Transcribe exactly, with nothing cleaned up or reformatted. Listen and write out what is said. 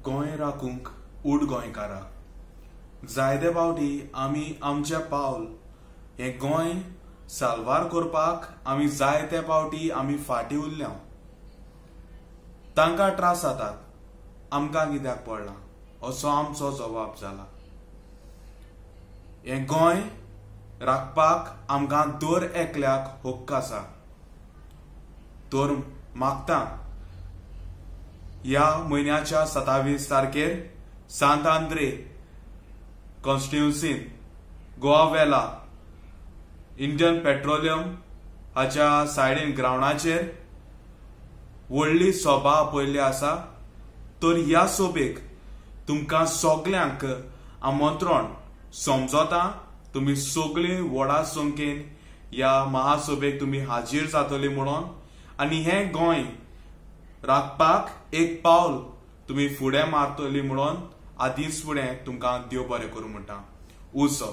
गोंय राखूंक उठ गोंयकारा. जायते फावटी आमी आमचें पावल हें गोंय साल्वार करपाक आमी जायते फावटी आमी फाटीं उरल्या. तांकां त्रास जातात, आमकां कित्याक पडलां असो आमचो जबाब जाला. हें गोंय राखपाक आमकां दर एकल्याक हक्क आसा. तर मागता ह्या म्हयन्याच्या सत्तावीस तारखेर सांत आंद्रे कॉन्स्टिट्युन्सीन गोवा वेला इंडियन पेट्रोलियम हाच्या सायडीन ग्रावंडाचेर व्हडली सभा आपयल्ली आसा. तर ह्या सभेक तुमकां सगल्यांक आमंत्रण समजता. तुमी सगळीं व्हडा संख्येन ह्या महासभेक तुमी हाजीर जातली म्हणून आनी हें गोंय राखपाक एक पावल तुमी फुडें मारतली म्हणून आदींच फुडें तुमकां देव बरें करूं म्हणटा. उजो.